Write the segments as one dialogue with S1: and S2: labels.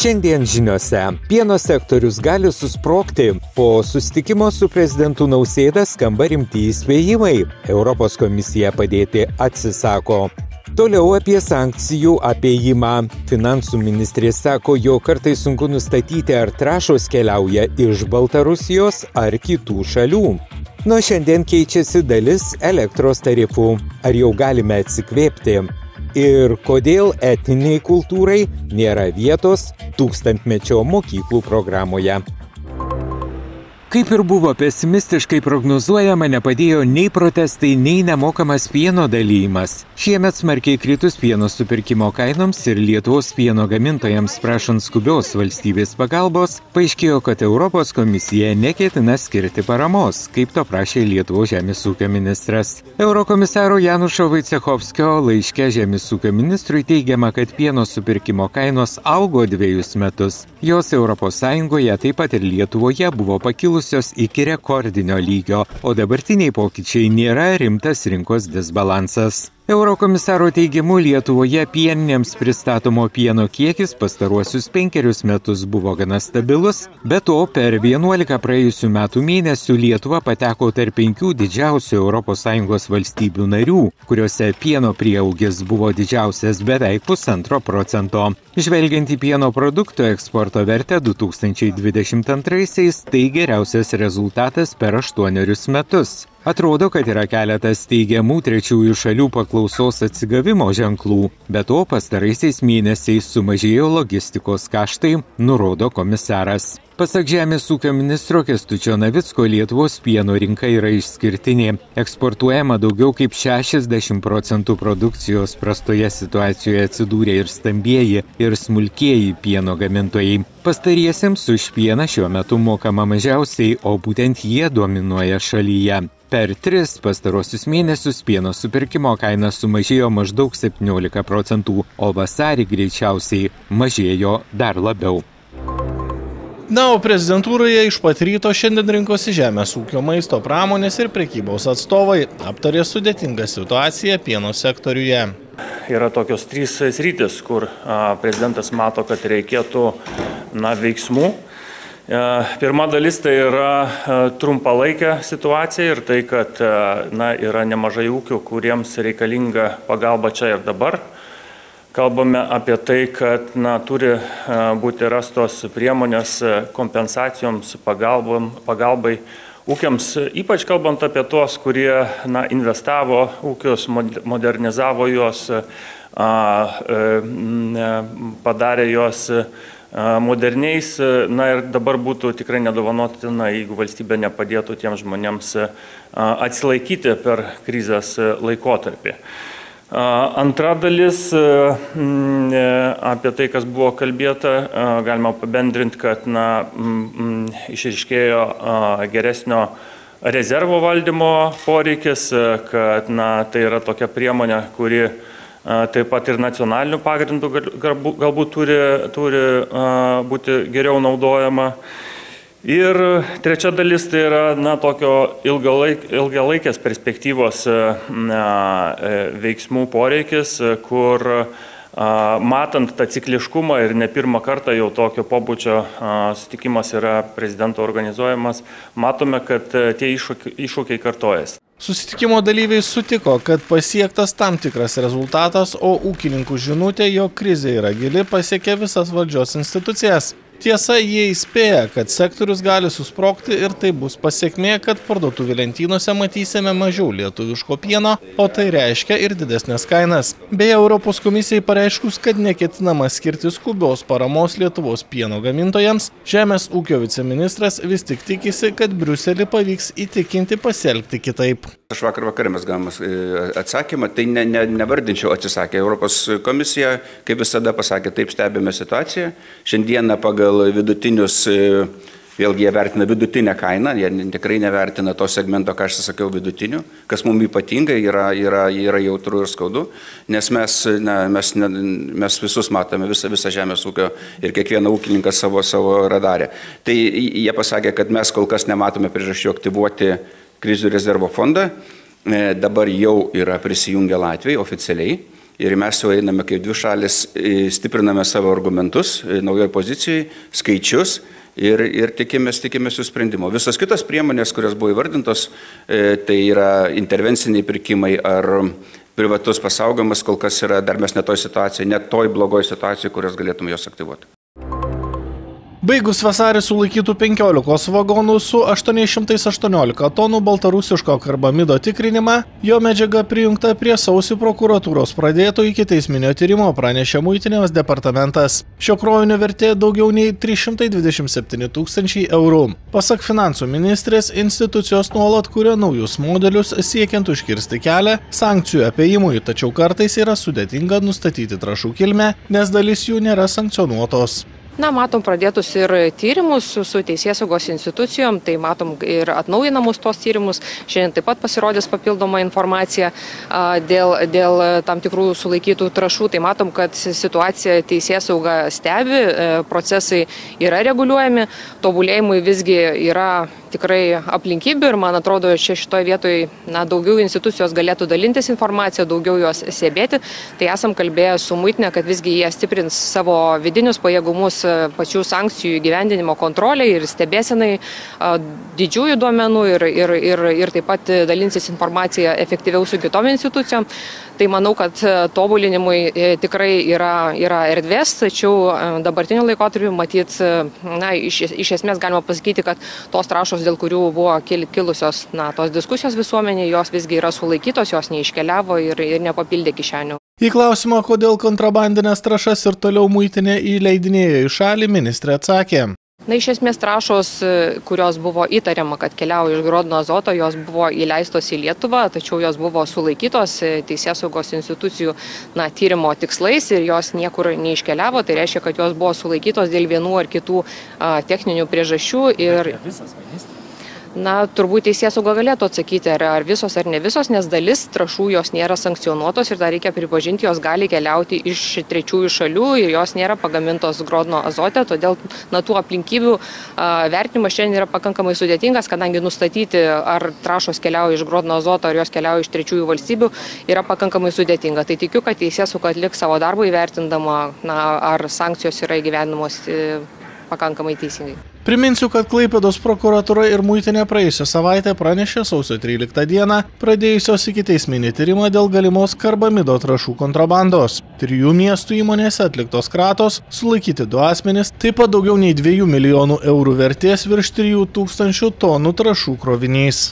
S1: Šiandien žiniose pieno sektorius gali susprogti. Po susitikimo su prezidentu Nausėda skamba rimti įspėjimai. Europos komisija padėti atsisako. Toliau apie sankcijų apėjimą. Finansų ministrė sako, jog kartais sunku nustatyti, ar trąšos keliauja iš Baltarusijos ar kitų šalių. Nuo šiandien keičiasi dalis elektros tarifų. Ar jau galime atsikvėpti? Ir kodėl etniniai kultūrai nėra vietos tūkstantmečio mokyklų programoje. Kaip ir buvo pesimistiškai prognozuojama, nepadėjo nei protestai, nei nemokamas pieno dalymas. Šiemet smarkiai kritus pieno supirkimo kainoms ir Lietuvos pieno gamintojams prašant skubios valstybės pagalbos, paaiškėjo, kad Europos komisija neketina skirti paramos, kaip to prašė Lietuvos žemės ūkio ministras. Eurokomisaro Janušo Vaicechovskio laiške žemės ūkio ministrui teigiama, kad pieno supirkimo kainos augo 2 metus. Jos ES, taip pat ir Lietuvoje buvo pakilusios iki rekordinio lygio, o dabartiniai pokyčiai nėra rimtas rinkos disbalansas. Eurokomisaro teigimu, Lietuvoje pieninėms pristatomo pieno kiekis pastaruosius 5 metus buvo gana stabilus, be to per 11 praėjusių metų mėnesių Lietuva pateko tarp 5 didžiausių ES valstybių narių, kuriuose pieno prieaugis buvo didžiausias beveik 1,5%. Žvelgiant į pieno produktų eksporto vertę 2022-aisiais, tai geriausias rezultatas per 8 metus. Atrodo, kad yra keletas teigiamų trečiųjų šalių paklausos atsigavimo ženklų, bet to pastaraisiais mėnesiais sumažėjo logistikos kaštai, nurodo komisaras. Pasak žemės ūkio ministro Kęstučio Navicko, Lietuvos pieno rinka yra išskirtinė. Eksportuojama daugiau kaip 60% produkcijos, prastoje situacijoje atsidūrė ir stambieji, ir smulkieji pieno gamintojai. Pastariesiems už pieną šiuo metu mokama mažiausiai, o būtent jie dominuoja šalyje. Per 3 pastarosius mėnesius pieno supirkimo kaina sumažėjo maždaug 17%, o vasarį greičiausiai mažėjo dar labiau.
S2: Na, o prezidentūroje iš pat ryto šiandien rinkosi žemės ūkio, maisto pramonės ir prekybos atstovai, aptarė sudėtingą situaciją pieno sektoriuje.
S3: Yra tokios 3 sritis, kur prezidentas mato, kad reikėtų veiksmų. Pirma dalis tai yra trumpalaikė situacija ir tai, kad yra nemažai ūkių, kuriems reikalinga pagalba čia ir dabar. Kalbame apie tai, kad turi būti rastos priemonės kompensacijoms, pagalbai ūkiams, ypač kalbant apie tuos, kurie investavo ūkius, modernizavo juos, padarė juos moderniais, ir dabar būtų tikrai nedovanotina, jeigu valstybė nepadėtų tiems žmonėms atsilaikyti per krizės laikotarpį. Antra dalis, apie tai, kas buvo kalbėta, galima apibendrinti, kad išryškėjo geresnio rezervo valdymo poreikis, kad tai yra tokia priemonė, kuri taip pat ir nacionaliniu pagrindu galbūt turi būti geriau naudojama. Ir trečia dalis tai yra tokio ilgalaikės perspektyvos veiksmų poreikis, kur matant tą cikliškumą ir ne pirmą kartą jau tokio pobūdžio susitikimas yra prezidento organizuojamas, matome, kad tie iššūkiai kartojasi.
S2: Susitikimo dalyviai sutiko, kad pasiektas tam tikras rezultatas, o ūkininkų žinutė, jog krizė yra gili, pasiekė visas valdžios institucijas. Tiesa, jie įspėja, kad sektorius gali susprogti ir tai bus pasekmė, kad parduotuvių lentynose matysime mažiau lietuviško pieno, o tai reiškia ir didesnės kainas. Beje, Europos komisijai pareiškus, kad neketinama skirti skubios paramos Lietuvos pieno gamintojams, žemės ūkio viceministras vis tik tikisi, kad Briuselį pavyks įtikinti pasielgti kitaip.
S4: Aš vakar mes gavome atsakymą, tai nevardinčiau atsisakė. Europos komisija, kaip visada pasakė, taip stebime situaciją. Šiandieną pagal vidutinius, vėlgi jie vertina vidutinę kainą, jie tikrai nevertina to segmento, ką aš sakiau, vidutinių, kas mums ypatingai yra jautru ir skaudu, nes mes visus matome, visą žemės ūkio ir kiekvieną ūkininką savo radarę. Tai jie pasakė, kad mes kol kas nematome priežasčių aktyvuoti krizių rezervo fondą, dabar jau yra prisijungę Latvijai oficialiai. ir mes jau einame kaip dvi šalis, stipriname savo argumentus, naujoje pozicijoje, skaičius ir tikimės jų sprendimo. Visos kitos priemonės, kurios buvo įvardintos, tai yra intervenciniai pirkimai ar privatus pasaugojimas, kol kas yra dar mes ne toj situacijoje, ne toj blogoj situacijoje, kurios galėtume jos aktyvuoti.
S2: Baigus vasarį sulaikytų 15 vagonų su 818 tonų baltarusiško karbamido tikrinimą, jo medžiaga prijungta prie sausį prokuratūros pradėto ikiteisminio tyrimo, pranešė Muitinės departamentas. Šio krovinio vertė daugiau nei 327 000 eurų. Pasak finansų ministrės, institucijos nuolat kuria naujus modelius siekiant užkirsti kelią sankcijų apėjimui, tačiau kartais yra sudėtinga nustatyti trąšų kilmę, nes dalis jų nėra sankcionuotos.
S5: Matom pradėtus ir tyrimus su teisėsaugos institucijom, tai matom ir atnaujinamus tos tyrimus. Šiandien taip pat pasirodys papildoma informacija dėl tam tikrų sulaikytų trąšų. Tai matom, kad situacija teisėsauga stebi, procesai yra reguliuojami, tobulėjimui visgi yra tikrai aplinkybių ir man atrodo, šitoje vietoje daugiau institucijos galėtų dalintis informaciją, daugiau jos stebėti. Tai esam kalbėję su Muitinė, kad visgi jie stiprins savo vidinius pajėgumus pačių sankcijų įgyvendinimo kontroliai ir stebėsenai didžiųjų duomenų ir taip pat dalinsis informaciją efektyviau su kitom institucijom. Tai manau, kad tobulinimui tikrai yra erdvės, tačiau dabartiniu laikotarpiu matyt, iš esmės galima pasakyti, kad tos trąšos, dėl kurių buvo kilusios tos diskusijos visuomenėje, jos visgi yra sulaikytos, jos neiškeliavo ir nepapildė kišenių.
S2: Į klausimą, kodėl kontrabandinės trąšas ir toliau Muitinė įleidinėjo į šalį, ministrė atsakė.
S5: Iš esmės trąšos, kurios buvo įtariama, kad keliauja iš Grodno Azoto, jos buvo įleistos į Lietuvą, tačiau jos buvo sulaikytos teisėsaugos institucijų tyrimo tikslais ir jos niekur neiškeliavo. Tai reiškia, kad jos buvo sulaikytos dėl vienų ar kitų techninių priežasčių. Turbūt teisėsauga galėtų atsakyti, ar visos ar ne visos, nes dalis trąšų jos nėra sankcionuotos ir dar reikia pripažinti, jos gali keliauti iš trečiųjų šalių ir jos nėra pagamintos Grodno Azote, todėl tų aplinkybių vertinimas šiandien yra pakankamai sudėtingas, kadangi nustatyti, ar trąšos keliauja iš Grodno Azoto, ar jos keliauja iš trečiųjų valstybių, yra pakankamai sudėtinga. Tai tikiu, kad teisėsauga atliks savo darbą įvertindama, ar sankcijos yra įgyvendinamos pakankamai teisingai.
S2: Priminsiu, kad Klaipėdos prokuratūra ir Muitinė praėjusią savaitę pranešė sausio 13 dieną pradėjusios ikiteisminį tyrimą dėl galimos karbamido trąšų kontrabandos. 3 miestų įmonėse atliktos kratos, sulaikyti 2 asmenys, taip pat daugiau nei 2 milijonų eurų vertės virš 3000 tonų trąšų krovinys.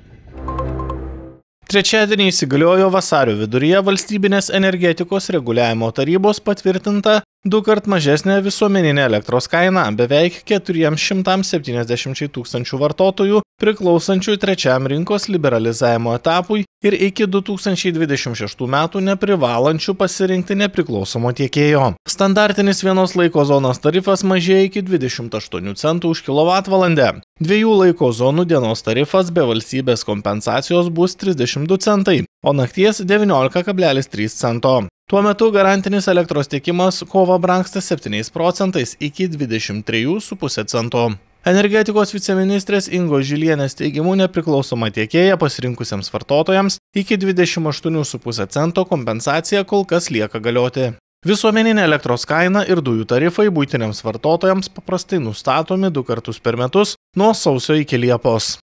S2: Trečiadienį įsigaliojo vasario viduryje Valstybinės energetikos reguliavimo tarybos patvirtinta 2-kart mažesnė visuomeninė elektros kaina beveik 470 000 vartotojų priklausančių trečiam rinkos liberalizavimo etapui ir iki 2026 metų neprivalančių pasirinkti nepriklausomo tiekėjo. Standartinis vienos laiko zonos tarifas mažėja iki 28 centų už kilovatvalandę. 2 laiko zonų dienos tarifas be valstybės kompensacijos bus 32 centai, o nakties 19,3 cento. Tuo metu garantinis elektros tiekimas kovą brangsta 7 procentais iki 23,5 cento. Energetikos viceministrės Ingos Žilienės teigimu nepriklausoma tiekėja pasirinkusiems vartotojams iki 28,5 cento kompensacija kol kas lieka galioti. Visuomeninė elektros kaina ir dujų tarifai buitiniams vartotojams paprastai nustatomi 2 kartus per metus nuo sausio iki Liepos.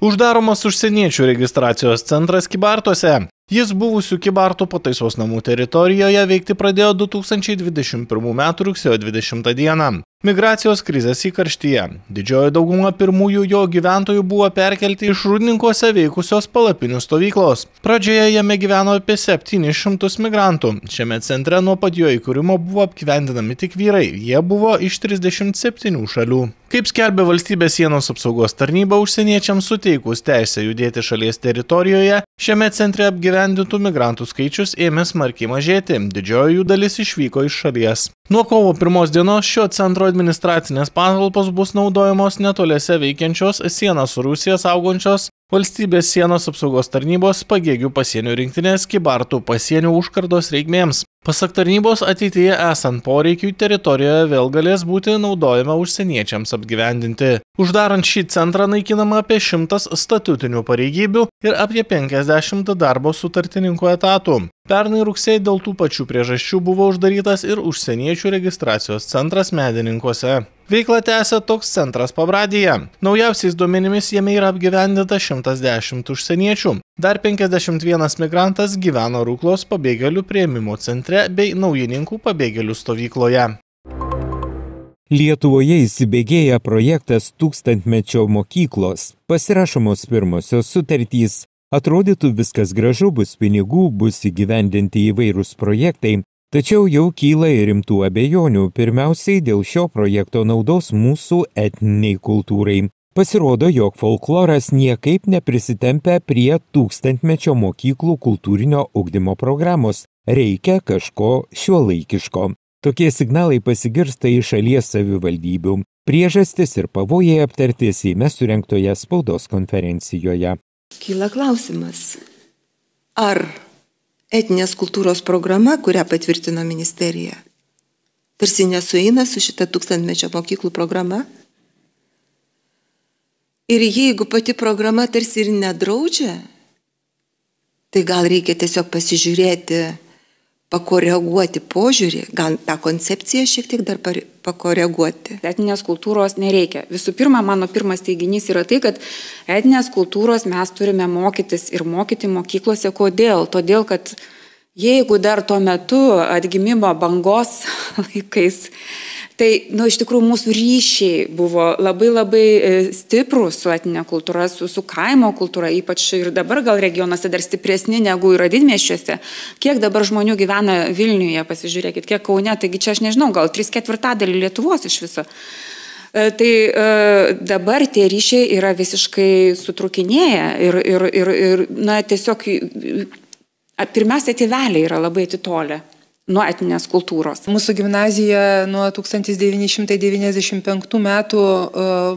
S2: Uždaromas užsieniečių registracijos centras Kybartuose. Jis buvusių Kybartų pataisos namų teritorijoje veikti pradėjo 2021 m. rugsėjo 20 dieną. Migracijos krizės įkarštyje. Didžioji dauguma pirmųjų jo gyventojų buvo perkelti iš Rūdninkuose veikusios palapinių stovyklos. Pradžioje jame gyveno apie 700 migrantų. Šiame centre nuo pat jo įkūrimo buvo apgyvendinami tik vyrai. Jie buvo iš 37 šalių. Kaip skelbė Valstybės sienos apsaugos tarnyba, užsieniečiams suteikus teisę judėti šalies teritorijoje, šiame centre apgyvendintų migrantų skaičius ėmė smarkiai mažėti. Didžioji jų dalis išvyko iš šalies. Nuo kovo 1 dienos šio centro administracinės patalpos bus naudojamos netoliese veikiančios sieną su Rusija saugančios Valstybės sienos apsaugos tarnybos Pagėgių pasienio rinktinės Kybartų pasienio užkardos reikmėms. Pasak tarnybos, ateityje esant poreikiui teritorijoje vėl galės būti naudojama užsieniečiams apgyvendinti. Uždarant šį centrą naikinama apie 100 statutinių pareigybių ir apie 50 darbo sutartininkų etatų. Pernai rugsėjį dėl tų pačių priežasčių buvo uždarytas ir užsieniečių registracijos centras Medininkuose. Veiklą tęsia toks centras Pabradyje. Naujausiais duomenimis jame yra apgyvendinta 110 užsieniečių. Dar 51 migrantas gyveno Ruklos pabėgėlių priėmimo centre bei Naujininkų pabėgėlių stovykloje.
S1: Lietuvoje įsibėgėja projektas Tūkstantmečio mokyklos. Pasirašomos pirmosios sutartys. Atrodytų viskas gražu, bus pinigų, bus įgyvendinti įvairūs projektai, tačiau jau kyla ir rimtų abejonių, pirmiausiai dėl šio projekto naudos mūsų etniniai kultūrai. Pasirodo, jog folkloras niekaip neprisitempia prie Tūkstantmečio mokyklų kultūrinio ugdymo programos. Reikia kažko šiuolaikiško. Tokie signalai pasigirsta iš šalies savivaldybių. Priežastis ir pavojai aptarti Seime surengtoje spaudos konferencijoje.
S6: Kyla klausimas, ar etninės kultūros programa, kurią patvirtino ministerija, tarsi nesueina su šita Tūkstantmečio mokyklų programa? Ir jeigu pati programa tarsi ir nedraudžia, tai gal reikia tiesiog pasižiūrėti, pakoreguoti požiūrį, gal tą koncepciją šiek tiek dar pakoreguoti.
S7: Etninės kultūros nereikia. Visų pirma, mano pirmas teiginys yra tai, kad etninės kultūros mes turime mokytis ir mokyti mokyklose. Kodėl? Todėl, kad jeigu dar tuo metu atgimimo bangos laikais, tai iš tikrųjų mūsų ryšiai buvo labai stiprus su etninė kultūra, su kaimo kultūra, ypač ir dabar gal regionuose dar stipresni negu yra didmiesčiuose. Kiek dabar žmonių gyvena Vilniuje, pasižiūrėkit, kiek Kaune, taigi čia aš nežinau, gal 3/4 Lietuvos iš viso. Tai dabar tie ryšiai yra visiškai sutrukinėję ir tiesiog pirmiausia tėveliai yra labai atitolę nuo etninės kultūros.
S8: Mūsų gimnazija nuo 1995 metų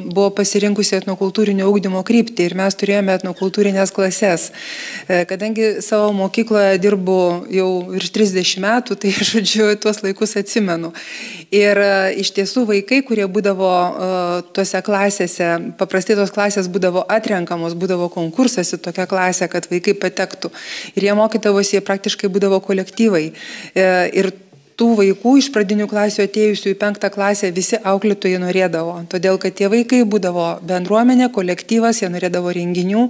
S8: buvo pasirinkusi etnokultūrinio ugdymo kryptį ir mes turėjome etnokultūrinės klases. Kadangi savo mokykloje dirbu jau virš 30 metų, tai žodžiu, tuos laikus atsimenu. Ir iš tiesų vaikai, kurie būdavo tose klasėse, paprastai tos klasės būdavo atrenkamos, būdavo konkursas į tokią klasę, kad vaikai patektų. Ir jie mokydavosi, jie praktiškai būdavo kolektyvai. Ir tų vaikų iš pradinių klasių atėjusių į 5 klasę visi auklėtojai norėdavo. Todėl, kad tie vaikai būdavo bendruomenė, kolektyvas, jie norėdavo renginių.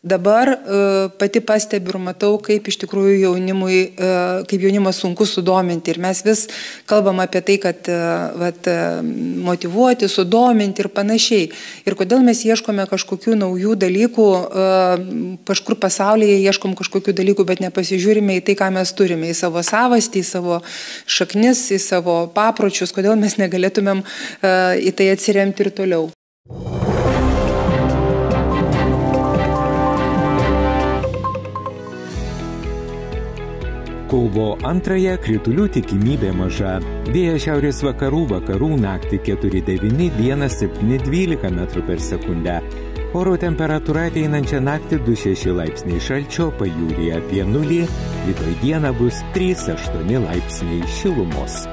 S8: Dabar pati pastebiu ir matau, kaip iš tikrųjų jaunimas sunku sudominti. Ir mes vis kalbam apie tai, kad motyvuoti, sudominti ir panašiai. Ir kodėl mes ieškome kažkokių naujų dalykų, kažkur pasaulyje ieškom kažkokių dalykų, bet nepasižiūrime į tai, ką mes turime, į savo savastį, į savo šaknis, į savo papročius, kodėl mes negalėtumėm į tai atsiremti ir toliau.
S1: Kovo 2 kritulių tikimybė maža. Vėjas šiaurės vakarų naktį 4,9, dieną 7,12 m/s. Oro temperatūra ateinančią naktį 2,6 laipsniai šalčio, pajūryje apie 0, rytoj dieną bus 3,8 laipsniai šilumos.